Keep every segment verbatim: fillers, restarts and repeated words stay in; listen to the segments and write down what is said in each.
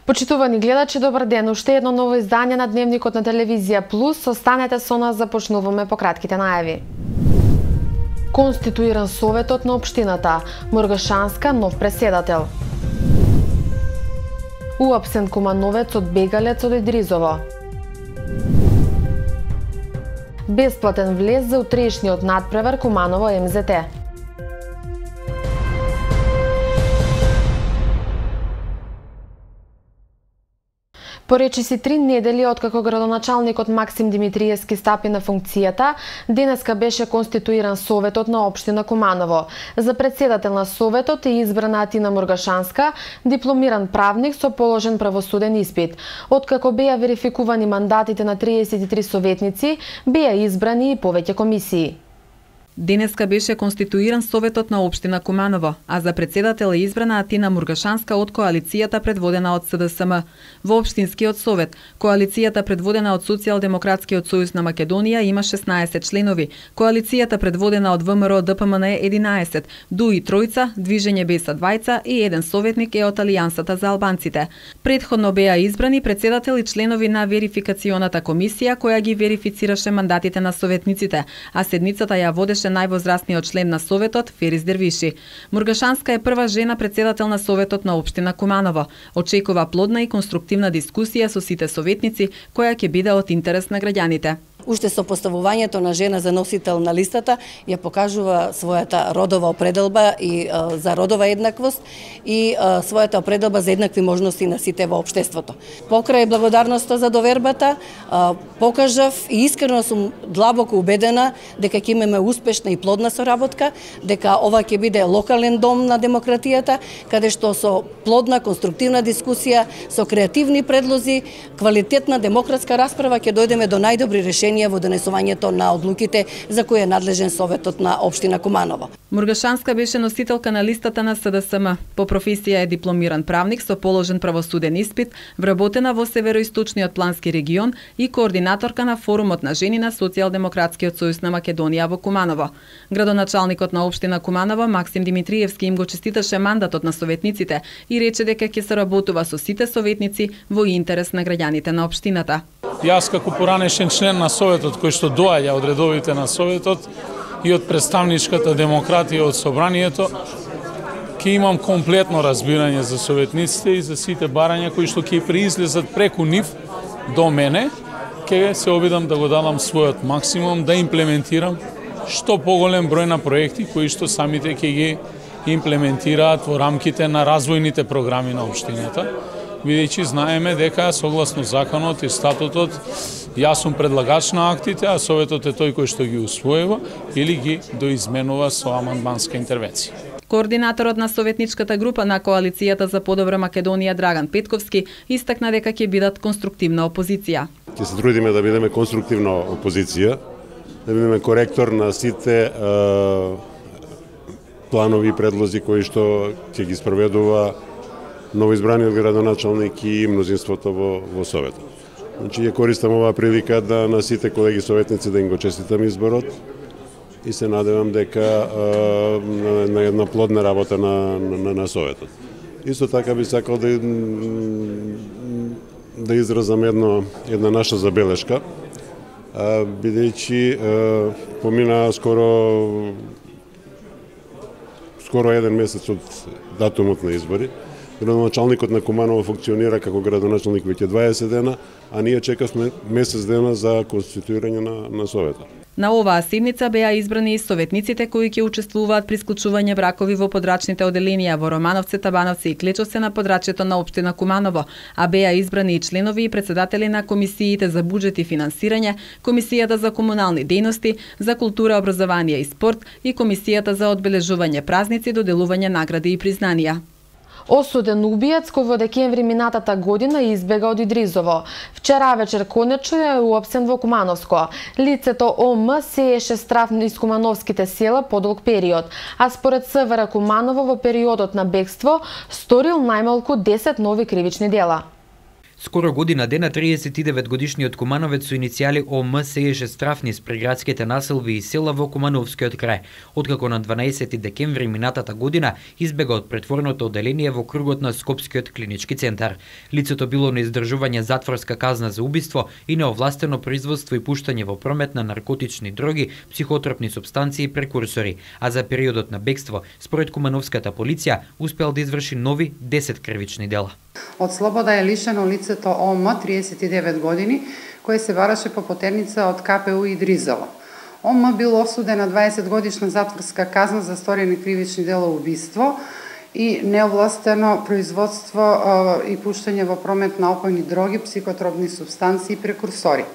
Почитувани гледачи, добар ден. Уште едно ново издание на Дневникот на Телевизија Плюс. Останете со нас, започнуваме по кратките најави. Конституиран Советот на општината. Мургашанска нов преседател. Уапсен Кумановец од бегалец од Идризово. Бесплатен влез за утрешниот надпревар Куманово Ем Зе Те. Поречиси три недели откако градоначалникот Максим Димитриевски стапи на функцијата, денеска беше конституиран Советот на општина Куманово. За председател на Советот е избрана Атина Мургашанска, дипломиран правник со положен правосуден испит. Откако беа верификувани мандатите на триесет и три советници, беа избрани и повеќе комисии. Денеска беше конституиран Советот на општина Куманово, а за председател е избрана Атина Мургашанска од коалицијата предводена од Се Де Се Ем. Во општинскиот совет, коалицијата предводена од Социјалдемократскиот сојуз на Македонија има шеснаесет членови, коалицијата предводена од Вэ Ем Ро Де Пе Ем Ен е единаесет, ДУИ тројца, Движење Беса двајца и еден советник е од Алијансата за албанците. Предходно беа избрани председател и членови на верификационата комисија која ги верифицираше мандатите на советниците, а седницата ја водеше највозрастниот член на Советот, Ферис Дервиши. Мургашанска е прва жена председател на Советот на општина Куманово. Очекува плодна и конструктивна дискусија со сите советници, која ќе биде од интерес на граѓаните. Уште со поставувањето на жена за носител на листата ја покажува својата родова определба и а, за родова еднаквост и а, својата определба за еднакви можности на сите во општеството. Покрај благодарноста за довербата, а, покажав и искрено сум длабоко убедена дека ќе имаме успешна и плодна соработка, дека ова ќе биде локален дом на демократијата, каде што со плодна, конструктивна дискусија, со креативни предлози, квалитетна демократска расправа ќе дојдеме до најдобри решенија во донесувањето на одлуките за кои е надлежен Советот на општина Куманово. Мургашанска беше носителка на листата на Се Де Се Ем. По професија е дипломиран правник со положен правосуден испит, вработена во Североисточниот плански регион и координаторка на форумот на жени на Социјалдемократскиот сојуз на Македонија во Куманово. Градоначалникот на општина Куманово Максим Димитриевски им го честиташе мандатот на советниците и рече дека ќе се работува со сите советници во интерес на граѓаните на општината. Јас како поранешен член на Советот кој што доаѓа од редовите на Советот и од представничката демократија од собранието, ќе имам комплетно разбирање за советниците и за сите барања кои што ќе преизлезат преку нив до мене, ќе се обидам да го дадам својот максимум да имплементирам што поголем број на проекти кои што самите ќе ги имплементираат во рамките на развојните програми на општината. Бидејќи знаеме дека согласно законот и статутот јас сум предлагач на актите, а Советот е тој кој што ги усвојува или ги доизменува со амандманска интервенција. Координаторот на советничката група на коалицијата за подобра Македонија Драган Петковски истакна дека ќе бидат конструктивна опозиција. Ќе се трудиме да бидеме конструктивна опозиција, да бидеме коректор на сите е, планови и предлози кои што ќе ги спроведува новоизбраниот градоначалник и мнозинството во, во Советот. Значи, ја користам оваа прилика да на сите колеги советници да им го честитам изборот и се надевам дека а, на, на една плодна работа на, на, на Советот. Исто така би сакал да, да изразам едно, една наша забелешка, а, бидејќи а, помина скоро скоро еден месец од датумот на избори. Градоначалникот на Куманово функционира како градоначалник веќе дваесет дена, а ние чекавме месец дена за конституирање на, на Советот. На оваа седница беа избрани и советниците кои ќе учествуваат при склучување бракови во подрачните оделенија во Романовци, Табановци и Клечовци на подрачјето на општина Куманово, а беа избрани и членови и председатели на комисиите за буџет и финансирање, комисијата за комунални дејности, за култура, образование и спорт и комисијата за одбележување празници, доделување награди и признанија. Осуден убиец кој во декември минатата година избега од Идризово. Вчера вечер конечно е уапсен во Кумановско. Лицето О М сееше страв низ кумановските села подолг период, а според Се Ве Р Куманово во периодот на бегство сторил најмалку десет нови кривични дела. Скоро година дена триесет и девет годишниот кумановец со иницијали О М сееше страф низ приградските населби и села во Кумановскиот крај, откако на дванаесети декември минатата година избега од претворното оделение во кругот на Скопскиот клинички центар. Лицето било на издржување затворска казна за убиство и неовластено производство и пуштање во промет на наркотични дроги, психотропни супстанции и прекурсори, а за периодот на бегство, според кумановската полиција, успеал да изврши нови десет кривични дела. Од слобода е лишено лицето О М, триесет и девет години, кој се бараше по потерница од К П У Идризово. О М бил осуден на дваесет годишна затворска казна за сторени кривични дела убиство и неовластено производство и пуштање во промет на опојни дроги, психотропни супстанции и прекурсори.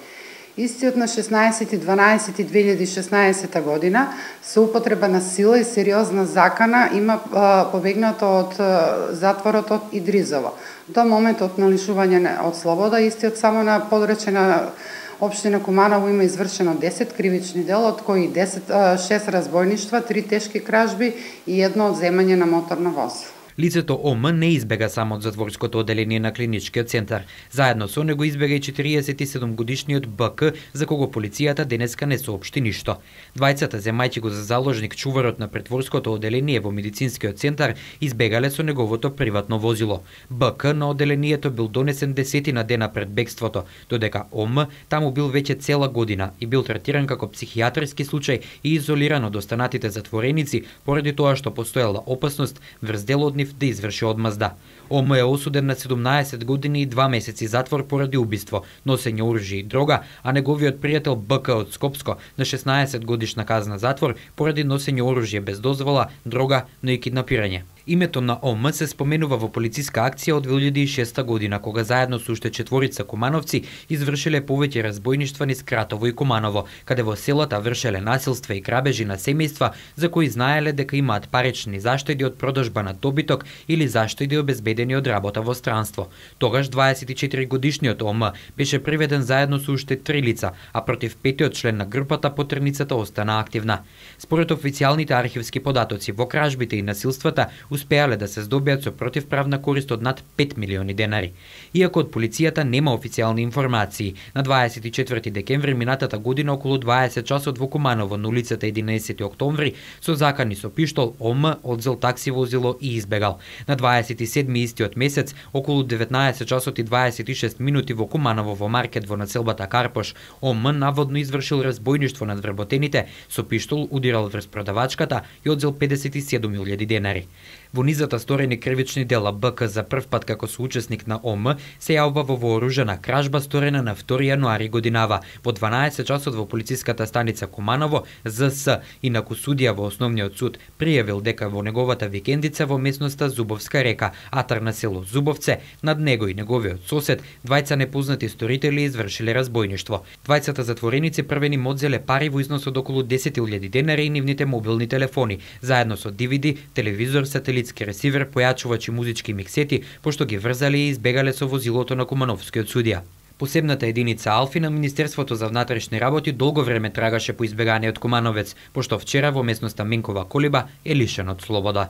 Истиот на шеснаесети дванаесети две илјади и шеснаесета година со употреба на сила и сериозна закана има а, побегнато од а, затворот од Идризово. До моментот на лишување од слобода, истиот само на подречена општина Куманово има извршено десет кривични дела, од кои десет, а, шест разбойништва, три тешки кражби и едно одземање на моторно возило. Лицето О М не избега само од затворското оделение на клиничкиот центар. Заедно со него избега и четириесет и седум годишниот Б К, за кого полицијата денеска не соопшти ништо. Двајцата, земајќи го за заложник чуварот на претворското оделение во медицинскиот центар, избегале со неговото приватно возило. Б К на оделението бил донесен десетина дена пред бегството, додека О М таму бил веќе цела година и бил третиран како психијатрски случај и изолиран од останатите затвореници поради тоа што постоела опасност врз дел од нив да изврши одмазда. О М е осуден на седумнаесет години и два месеци затвор поради убиство, носење оружје и дрога, а неговиот пријател Б К од Скопско на шеснаесет годишна казна затвор поради носење оружје без дозвола, дрога, но и киднапирање. Името на О М се споменува во полициска акција од две илјади и шеста година, кога заедно со уште четворица кумановци извршиле повеќе разбойништва низ Кратово и Куманово, каде во селата вршеле насилства и грабежи на семејства за кои знаеле дека имаат парични заштеди од продажба на добиток или заштеди обезбедени од работа во странство. Тогаш дваесет и четири годишниот О М беше приведен заедно со уште три лица, а против петиот член на групата потерницата остана активна. Според официјалните архивски податоци, во кражбите и насилствата успеале да се здобиат со противправна корист од над пет милиони денари. Иако од полицијата нема официјални информации, на дваесет и четврти декември минатата година околу дваесет часот во Куманово на улицата единаесети октомври со закани со пиштол О М одзел такси возило и избегал. На дваесет и седми истиот месец околу деветнаесет часот и дваесет и шест минути во Куманово во маркет во населбата Карпош, О М наводно извршил разбойништво над вработените, со пиштол удирал врз продавачката и одзел педесет и седум илјади денари. Во низата сторени кривични дела, Б К за прв пат како соучесник на О М се јавува во вооружена кражба сторена на втори јануари годинава. Во дванаесет часот во полициската станица Куманово, З С, инаку судија во основниот суд, пријавил дека во неговата викендица во местноста Зубовска река, атар на село Зубовце, над него и неговиот сосед, двајца непознати сторители извршиле разбойништво. Двајцата затвореници првени им одзеле пари во износ од околу десет илјади денари и нивните мобилни телефони, заедно со Д В Д, телевизор, сателитски ресивер, појачувач и музички миксети, пошто ги врзале и избегале со возилото на кумановскиот судија. Посебната единица Алфи на Министерството за внатрешни работи долго време трагаше по избеганиот кумановец, пошто вчера во местноста Минкова Колиба е лишен од слобода.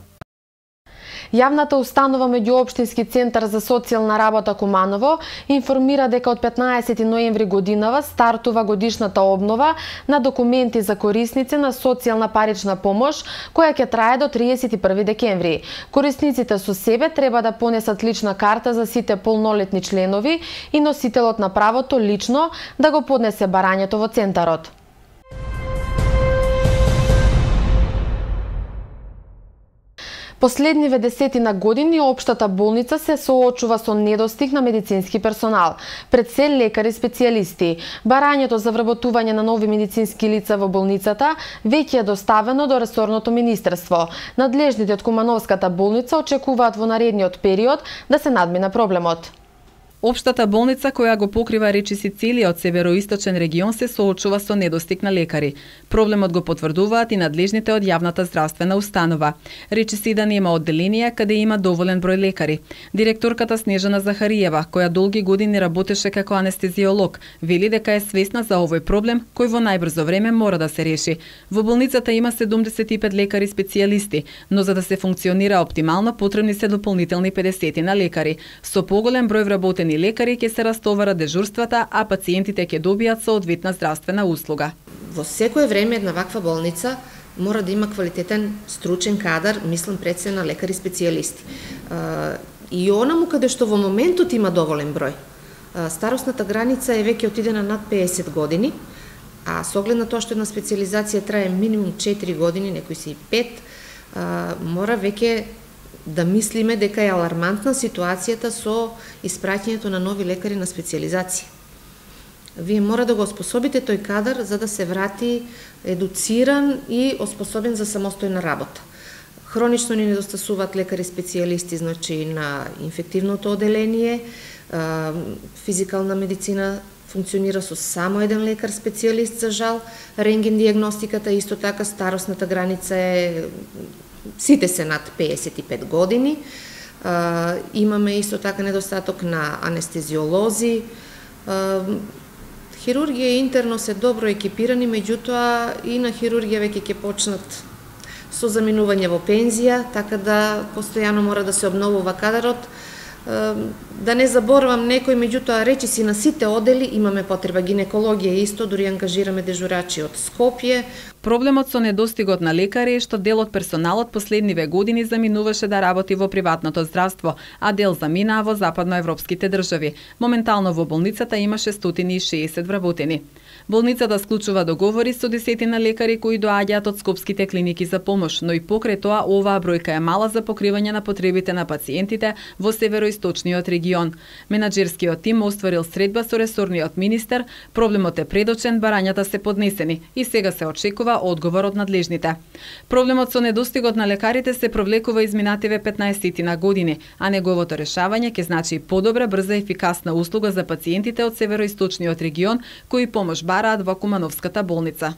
Јавната установа Меѓуопштински центар за социјална работа Куманово информира дека од петнаесети ноември годинава стартува годишната обнова на документи за корисници на социјална парична помош, која ќе трае до триесет и први декември. Корисниците со себе треба да понесат лична карта за сите полнолетни членови и носителот на правото лично да го поднесе барањето во центарот. Последниве десетина години општата болница се соочува со недостиг на медицински персонал, пред се лекари специјалисти. Барањето за вработување на нови медицински лица во болницата веќе е доставено до ресорното министерство. Надлежните од Кумановската болница очекуваат во наредниот период да се надмина проблемот. Општата болница, која го покрива речиси целиот североисточен регион, се соочува со недостиг на лекари. Проблемот го потврдуваат и надлежните од јавната здравствена установа. Речиси да нема одделенија каде има доволен број лекари. Директорката Снежана Захариева, која долги години работеше како анестезиолог, вели дека е свесна за овој проблем кој во најбрзо време мора да се реши. Во болницата има седумдесет и пет лекари специјалисти, но за да се функционира оптимално потребни се дополнителни педесет на лекари. Со поголем број вработени освободени лекари ќе се растоварат дежурствата, а пациентите ќе добијат соодветна здравствена услуга. Во секое време една ваква болница мора да има квалитетен стручен кадар, мислам пред се на лекари специјалисти. И онаму каде што во моментот има доволен број. Старосната граница е веќе отидена над пеесет години, а со оглед на тоа што една специјализација трае минимум четири години, некои си и пет, мора веќе да мислиме дека е алармантна ситуацијата со испраќањето на нови лекари на специјализација. Вие мора да го оспособите тој кадар за да се врати едуциран и оспособен за самостојна работа. Хронично ни недостасуваат лекари специјалисти, значи на инфективното оделение, физикална медицина функционира со само еден лекар специјалист за жал, рентген диагностиката исто така, старосната граница е сите се над пеесет и пет години. Имаме исто така недостаток на анестезиолози. Хирургија и интерно се добро екипирани, меѓутоа и на хирургија веќе ќе почнат со заминување во пензија, така да постојано мора да се обновува кадарот. Да не заборавам некој, меѓутоа речиси на сите одели имаме потреба. Гинекологија исто, дури ангажираме дежурачи од Скопје. Проблемот со недостигот на лекари е што дел од персоналот последниве години заминуваше да работи во приватното здравство, а дел заминаа во западноевропските држави. Моментално во болницата имаше сто и шеесет вработени. Болницата склучува договори со десетина лекари кои доаѓаат од скопските клиники за помош, но и покрај тоа оваа бројка е мала за покривање на потребите на пациентите во североисточниот регион. Менаџерскиот тим остварил средба со ресорниот министер, проблемот е предочен, барањата се поднесени и сега се очекува одговор од надлежните. Проблемот со недостигот на лекарите се провлекува изминативе петнаесет на години, а неговото решавање ќе значи подобра, брза и ефикасна услуга за пациентите од североисточниот регион кои помош бараат во Кумановската болница.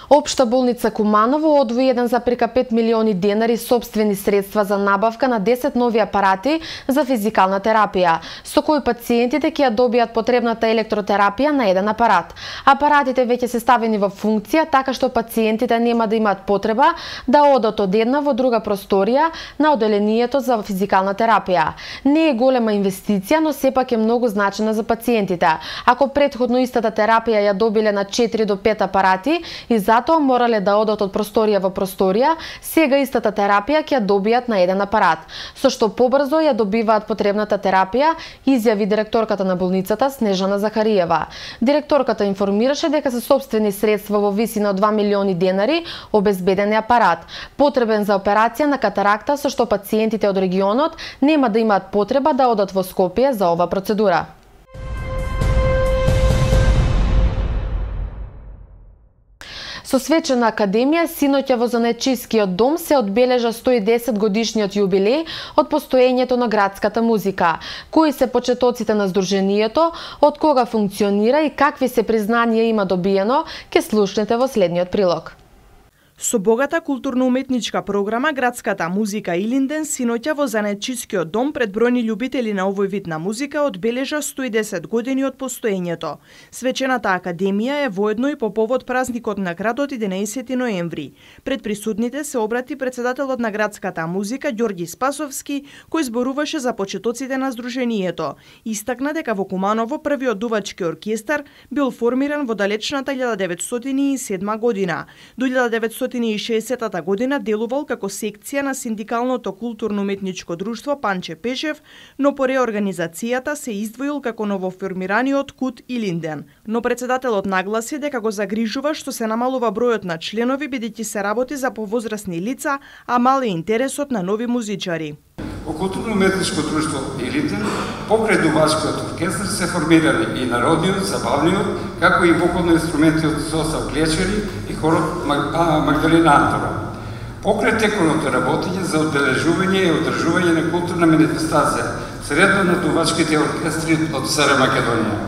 Општа болница Куманово одвои еден зарез пет милиони денари собствени средства за набавка на десет нови апарати за физикална терапија, со кои пациентите ќе ја добијат потребната електротерапија на еден апарат. Апаратите веќе се ставени во функција, така што пациентите нема да имаат потреба да одат од една во друга просторија на оделението за физикална терапија. Не е голема инвестиција, но сепак е многу значена за пациентите. Ако претходно истата терапија ја добиле на четири до пет апарати и за затоа морале да одат од просторија во просторија, сега истата терапија ќе ја добијат на еден апарат, со што побрзо ја добиваат потребната терапија, изјави директорката на болницата Снежана Захариева. Директорката информираше дека се собствени средства во висина од два милиони денари обезбеден е апарат, потребен за операција на катаракта, со што пациентите од регионот нема да имаат потреба да одат во Скопје за ова процедура. Со свечена академија, синоќа во Занечискиот дом се одбележа сто и десет годишниот јубилеј од постоењето на градската музика. Кои се почетоците на здруженијето, од кога функционира и какви се признанија има добиено, ке слушнете во следниот прилог. Со богата културно-уметничка програма, градската музика Илинден синоќа во Занечискиот дом пред бројни љубители на овој вид на музика одбележа сто и десет години од постоењето. Свечената академија е воедно и по повод празникот на градот единаесети ноември. Пред присутните се обрати претседателот на градската музика Ѓорги Спасовски, кој зборуваше за почетоците на здруженијето. Истакна дека во Куманово првиот дувачки оркестар бил формиран во далечната илјада деветстотини и седма година. До илјада деветстотини и шеесеттата година делувал како секција на Синдикалното културно-уметничко друштво Панче Пешев, но по реорганизацијата се издвоил како новоформираниот КУТ Илинден. Но председателот нагласи дека го загрижува што се намалува бројот на членови бидејќи се работи за повозрасни лица, а мал е интересот на нови музичари. Во културно-уметничко друштво Илинден, покрај дувачкиот оркестар се формирали и народниот, забавниот, како и вокално-инструментиот состав Глечери и хорот Магдалина Антова. Покрај теконото работење за одбележување и одржување на културна манифестација средно на дувачките оркестри од СР Македонија.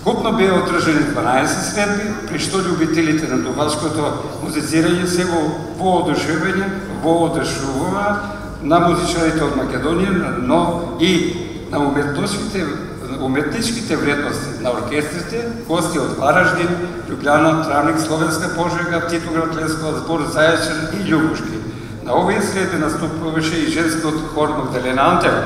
Вкупно беа одржани дванаесет средби, при што љубителите на дувачкото музицирање се во воодушевување, воодушевува на музичарите од Македонија, но и на уметничките, уметничките вредности на оркестрите, гости од Вараждин, Љубљана, Травник, Словенска Пожега, Титоград, Лесковаc, Збор, Зајачар и Љубушки. На овие средби наступуваше и женскиот хор Магдалина Антева.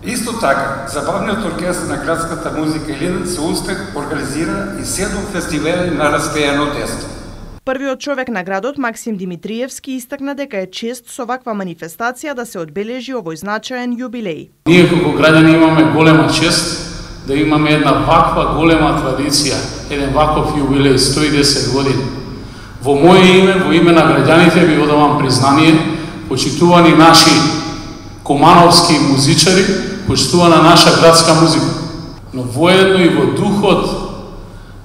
Исто така, забавниот оркестар на градската музика Илинден со успех организира и седум фестивали на распејано десно. Првиот човек на градот, Максим Димитриевски, истакна дека е чест со ваква манифестација да се одбележи овој значаен јубилеј. Ние како граѓани имаме голема чест да имаме една ваква голема традиција, еден ваков јубилеј, сто и десет години. Во моје име, во име на граѓаните ви одавам признание, почитувани наши комановски музичари, почитувана наша градска музика. Но воедно и во духот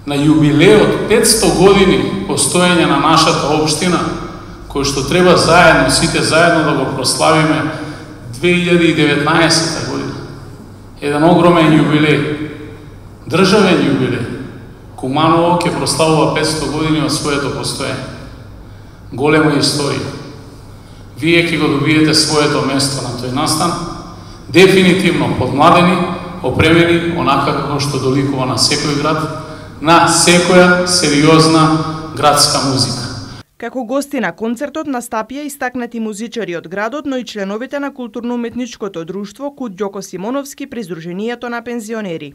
на јубилеот петсто години постоење на нашата општина, кој што треба заедно, сите заедно да го прославиме две илјади и деветнаесетта година. Еден огромен јубилеј, државен јубилеј. Куманово ќе прославува петсто години од своето постоење. Голема историја. Вие ќе го добиете своето место на тој настан, дефинитивно подмладени, опремени, онака како што доликува на секој град, на секоја сериозна градска музика. Како гости на концертот настапија истакнати музичари од градот, но и членовите на културно-уметничкото друштво Кут Ѓоко Симоновски при Сдруженијето на пензионери.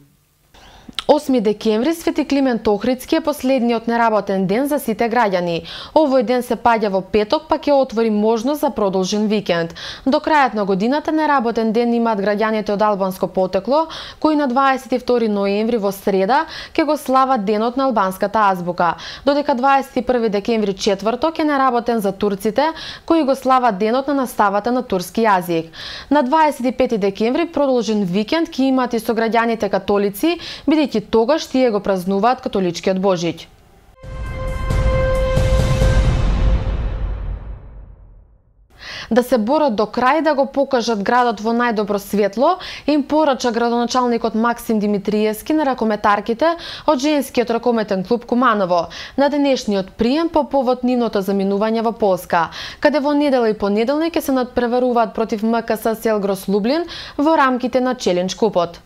осми декември Свети Климент Охридски е последниот неработен ден за сите граѓани. Овој ден се паѓа во петок, па ќе отвори можност за продолжен викенд. До крајот на годината неработен ден имаат граѓаните од албанско потекло, кои на дваесет и втори ноември во среда ќе го слават денот на албанската азбука. Додека дваесет и први декември четврток е неработен за турците, кои го слават денот на наставата на турски јазик. На дваесет и пети декември продолжен викенд ќе имаат и сограѓаните католици, бидејќи тогаш тие го празнуваат католичкиот Божиќ. Да се борат до крај да го покажат градот во најдобро светло, им порача градоначалникот Максим Димитриевски на ракометарките од женскиот ракометен клуб Куманово на денешниот прием по повод нивното заминување во Полска, каде во недела и понеделник ќе се надпреваруваат против М К С Селгрос Лублин во рамките на Челендж купот.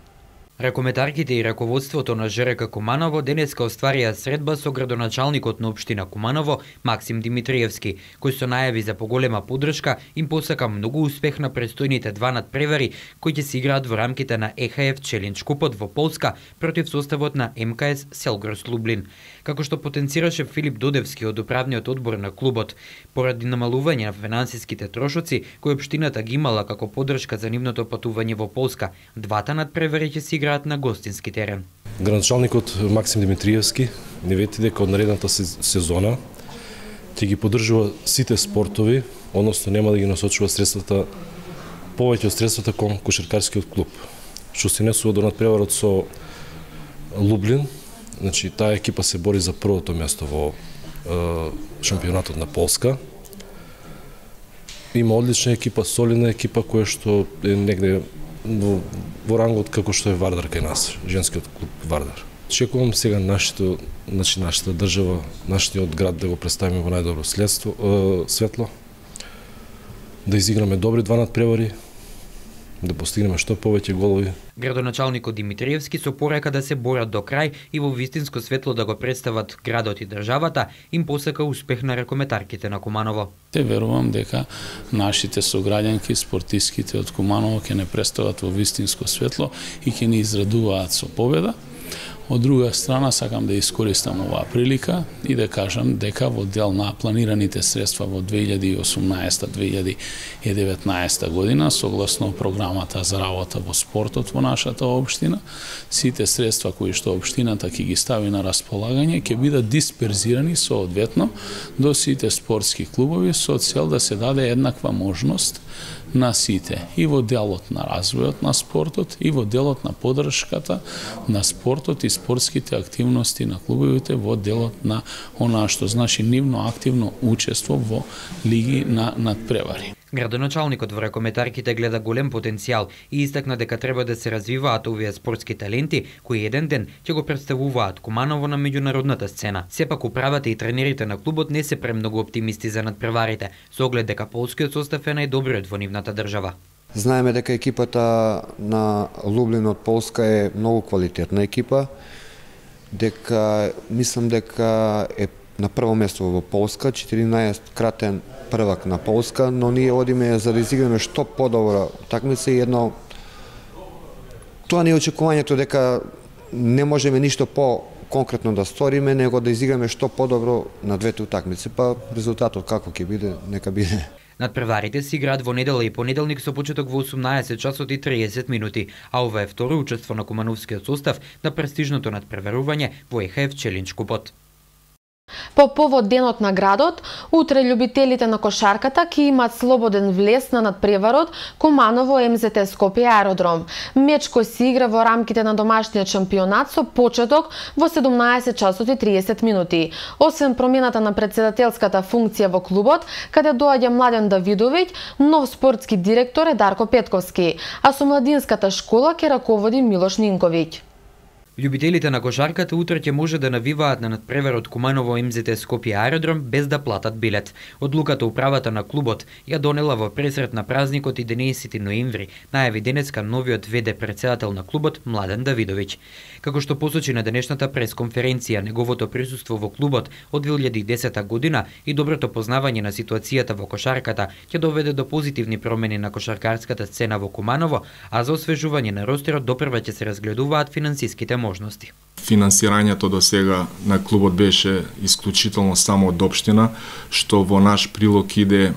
Ракометарките и раководството на Ж Р К Куманово денеска остварија средба со градоначалникот на општина Куманово Максим Димитриевски, кој со најави за поголема поддршка им посака многу успех на престојните два надпревари кои ќе се играат во рамките на Е Х Ф Челендж купот во Полска против составот на М К С Селгрос Лублин. Како што потенцираше Филип Додевски од управниот одбор на клубот, поради намалување на финансиските трошоци кои општината ги имала како поддршка за нивното патување во Полска, двата надпревари ќе се играат на гостински терен. Градоначалникот Максим Димитриевски не вети дека од наредната сезона ќе ги поддржува сите спортови, односно нема да ги насочува средствата, повеќе од средствата кон кошаркарскиот клуб. Што се несува до надпреварот со Лублин, значи таа екипа се бори за првото место во е, шампионатот на Полска. Има одлична екипа, солидна екипа која што е негде во, во рангот како што е Вардар кај нас, женскиот клуб Вардар. Чекувам сега нашето, значи нашата држава, нашиот град да го представиме во најдобро следство, е, светло, да изиграме добри два надпревари, да постигнеме што повеќе голови. Градоначалникот Димитриевски со порека да се борат до крај и во вистинско светло да го представат градот и државата, им посака успех на ракометарките на Куманово. Те верувам дека нашите сограѓанки, спортиските од Куманово ќе не представат во вистинско светло и ќе ни израдуваат со победа. Од друга страна, сакам да искористам оваа прилика и да кажам дека во дел на планираните средства во две илјади и осумнаесета - две илјади и деветнаесета година, согласно програмата за работа во спортот во нашата општина, сите средства кои што општината ќе ги стави на располагање ќе бидат дисперзирани соодветно до сите спортски клубови со цел да се даде еднаква можност на сите, и во делот на развојот на спортот, и во делот на поддршката на спортот и спортските активности на клубовите во делот на онаа што значи нивно активно учество во лиги на надпревари. Градоначалникот во ракометарките гледа голем потенцијал и истакна дека треба да се развиваат овие спортски таленти кои еден ден ќе го представуваат Куманово на меѓународната сцена. Сепак управата и тренерите на клубот не се премногу оптимисти за надпреварите, со оглед дека полскиот состав е најдобриот во нивната држава. Знаеме дека екипата на Лублин од Полска е многу квалитетна екипа, дека мислам дека е на прво место во Полска, четиринаесет кратен првак на Полска, но ние одиме за да изиграме што подобро такмица и едно Тоа не е очекувањето дека не можеме ништо по конкретно да сториме, него да изиграме што подобро на двете утакмици, па резултатот како ќе биде, нека биде. Надпреварите се играат во недела и понеделник со почеток во осумнаесет часот и триесет минути, а ова е второ учество на кумановскиот состав на престижното надпреварување во Е Ха Еф Челендж купот. По повод денот на градот, утре љубителите на кошарката ќе имаат слободен влез на надпреварот Куманово Ем Зет Е Скопје аеродром. Меч кој се игра во рамките на домашниот шампионат со почеток во седумнаесет часот и триесет минути. Освен промената на претседателската функција во клубот, каде доаѓа Младен Давидовиќ, нов спортски директор е Дарко Петковски, а со младинската школа ќе раководи Милош Нинковиќ. Љубителите на кошарката утре ќе може да навиваат на надпреварот Куманово Ем Зет Е Скопје аеродром без да платат билет. Одлуката управата на клубот ја донела во пресрет на празникот единаесети ноември, најави денеска новиот ве-де претседател на клубот Младен Давидовиќ. Како што посочи на денешната пресконференција, неговото присуство во клубот од две илјади и десета година и доброто познавање на ситуацијата во кошарката ќе доведе до позитивни промени на кошаркарската сцена во Куманово, а за освежување на ростерот допрва ќе се разгледуваат финансиските можности. Финансирањето до сега на клубот беше исклучително само од општина, што во наш прилог иде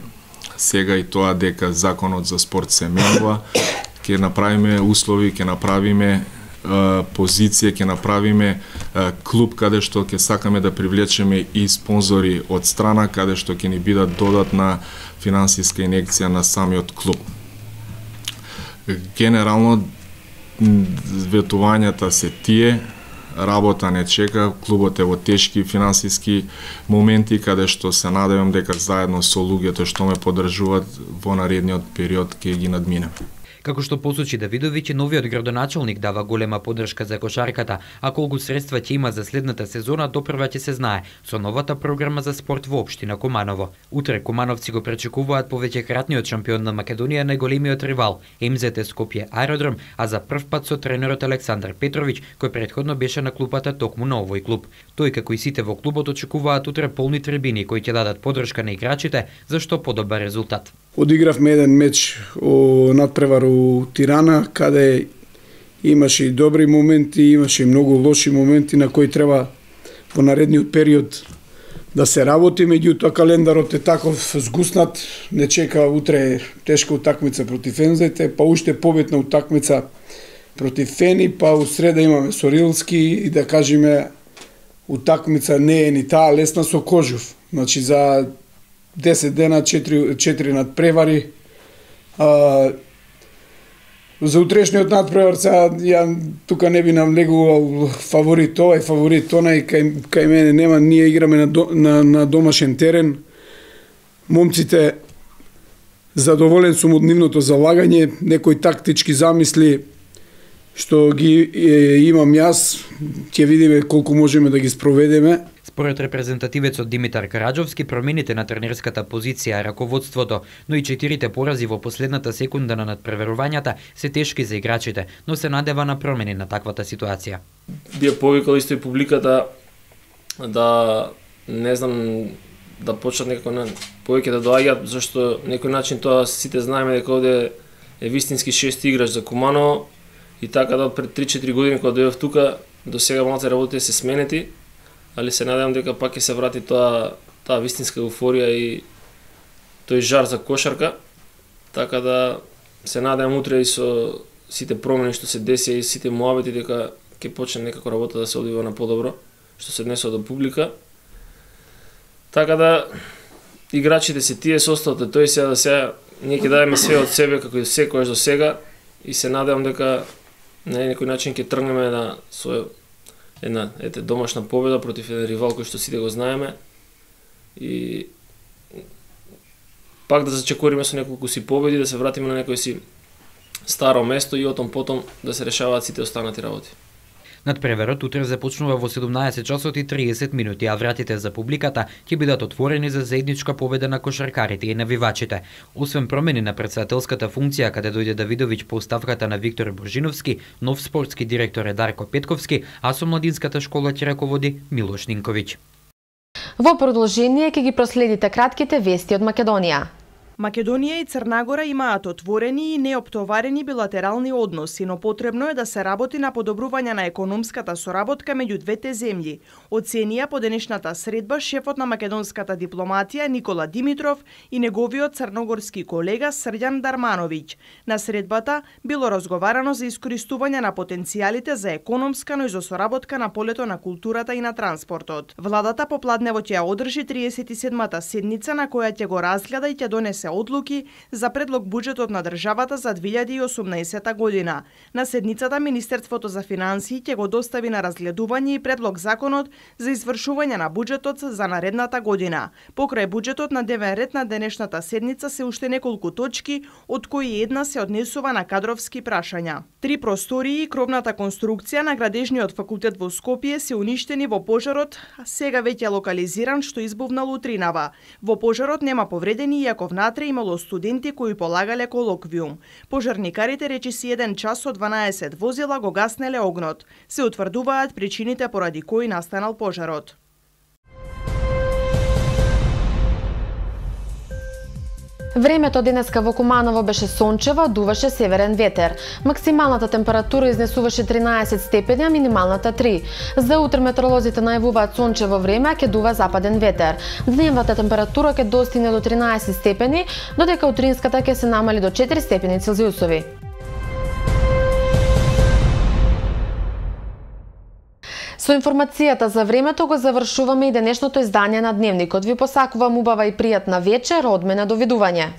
сега и тоа дека законот за спорт се менува, ќе направиме услови, ќе направиме позиција, ќе направиме клуб каде што ќе сакаме да привлечеме и спонзори од страна, каде што ќе ни бидат додатна финансиска инекција на самиот клуб. Генерално ветувањата се тие, работа не чека, клубот е во тешки финансиски моменти, каде што се надевам дека заедно со луѓето што ме поддржуваат во наредниот период ќе ги надминем. Како што посочи Давидовиќ, новиот градоначалник дава голема поддршка за кошарката, а колку средства ќе има за следната сезона допрва ќе се знае со новата програма за спорт во општина Куманово. Утре кумановци го пречекуваат повеќекратниот шампион на Македонија најголемиот ривал Ем Зет Е Скопје аеродром, а за прв пат со тренерот Александар Петровиќ, кој претходно беше на клупата токму на овој клуб. Тој како и сите во клубот очекуваат утре полни трибини кои ќе дадат поддршка на играчите за што подобар резултат. Одигравме еден меч о надпревар у Тирана, каде имаше и добри моменти, имаше и многу лоши моменти на кои треба во наредниот период да се работи, меѓутоа календарот е таков згуснат, не чека утре тешка утакмица против Ем Зет Е, па уште победна утакмица против Фени, па у среда имаме со Рилски и да кажеме утакмица не е ни таа лесна со Кожув. Значи за десет дена, четири надпревари. А, за утрешниот надпревар, сега, ја тука не би навлегувал фаворит ова и фаворит она, и кај, кај мене нема, ние играме на, до, на, на домашен терен. Момците, задоволен сум од нивното залагање, некои тактички замисли што ги е, имам јас, ќе видиме колку можеме да ги спроведеме. Според репрезентативецот Димитар Караџовски, промените на тренерската позиција, раководството, но и четирите порази во последната секунда на надпреверувањата се тешки за играчите, но се надева на промени на таквата ситуација. Би повикал исто и публиката да, не знам, да почнат некако на повеќе да доаѓаат, зашто некој начин тоа сите знаеме дека овде е вистински шести играч за Куманово и така да пред три-четири години кога дојдов тука, до сега малце работите се сменети, али се надевам дека пак ќе се врати тоа таа вистинска еуфорија и тој жар за кошарка, така да се надевам утре и со сите промени што се деси и сите муабети дека ќе почне некако работа да се одвива на подобро, што се однесува до публика. Така да играчите се тие, составот е тој, сега да сега ние ќе дадеме све од себе како и секојаш до сега и се надевам дека на некој начин ќе тргнеме на со една ете домашна победа против еден ривал кој што сите го знаеме и пак да зачекориме со неколку си победи, да се вратиме на некој си старо место и отом потом да се решаваат сите останати работи. Надпреверот утре започнува во седумнаесет часот и триесет минути, а вратите за публиката ќе бидат отворени за заедничка победа на кошаркарите и навивачите. Освен промени на претседателската функција, каде дојде Давидовиќ по оставката на Виктор Божиновски, нов спортски директор е Дарко Петковски, а со младинската школа ќе раководи Милош Нинковиќ. Во продолжение ќе ги проследите кратките вести од Македонија. Македонија и Црна Гора имаат отворени и неоптоварени билатерални односи, но потребно е да се работи на подобрување на економската соработка меѓу двете земји, оценија по денешната средба шефот на македонската дипломатија Никола Димитров и неговиот црногорски колега Срđan Darmanović. На средбата било разговарано за искористување на потенцијалите за економска, но и за соработка на полето на културата и на транспортот. Владата попладневот ќе одржи триесет и седмата седница на која ќе го разгледа и ќе донесе одлуки за предлог буџетот на државата за две илјади и осумнаесета година. На седницата Министерството за финансии ќе го достави на разгледување и предлог законот за извршување на буџетот за наредната година. Покрај буџетот на дневен ред на денешната седница се уште неколку точки, од кои една се однесува на кадровски прашања. Три простории и кровната конструкција на Градежниот факултет во Скопје се уништени во пожарот, сега веќе локализиран што избувнал утринава. Во пожарот нема повредени, иако внатре имало студенти кои полагале колоквиум. Пожарникарите речиси еден час од дванаесет возила го гаснеле огнот. Се утврдуваат причините поради кои настанал пожарот. Времето денеска во Куманово беше сончево, дуваше северен ветер. Максималната температура изнесуваше тринаесет степени, а минималната три. За утре метеоролозите најавуваат сончево време, а ќе дува западен ветер. Дневната температура ќе достигне до тринаесет степени, додека утринската ќе се намали до четири степени Целзиусови. Со информацијата за времето го завршуваме и денешното издание на Дневникот. Ви посакувам убава и пријатна вечер, од мене довидување.